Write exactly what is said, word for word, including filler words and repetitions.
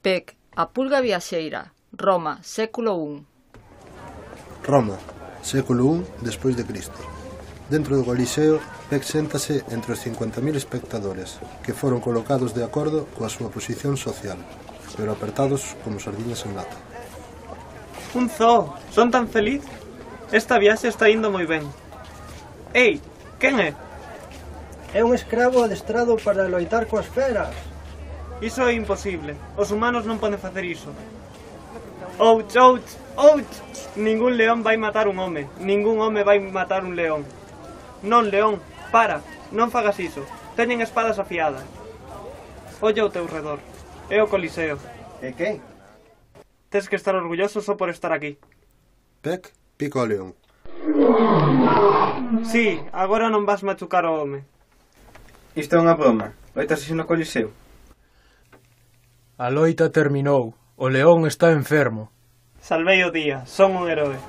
P E C, a pulga viaxeira, Roma, século un. Roma, século un despois de Cristo. Dentro do Coliseo, P E C séntase entre os cincuenta mil espectadores, que foron colocados de acordo coa súa posición social, pero apertados como sardiñas en lata. Un zoo! Son tan feliz? Esta viaxe está indo moi ben. Ei, quen é? É un escravo adestrado para loitar coas feras. Iso é imposible. Os humanos non poden facer iso. Ouch, ouch, ouch! Ningún león vai matar un home. Ningún home vai matar un león. Non, león, para. Non fagas iso. Teñen espadas afiadas. Olla ao teu redor. É o Coliseo. E que? Tes que estar orgulloso só por estar aquí. P E C pica o león. Sí, agora non vas machucar o home. Isto é unha broma. Loitas así no Coliseo. A loita terminou. O león está enfermo. Salvei o día. Son un heroe.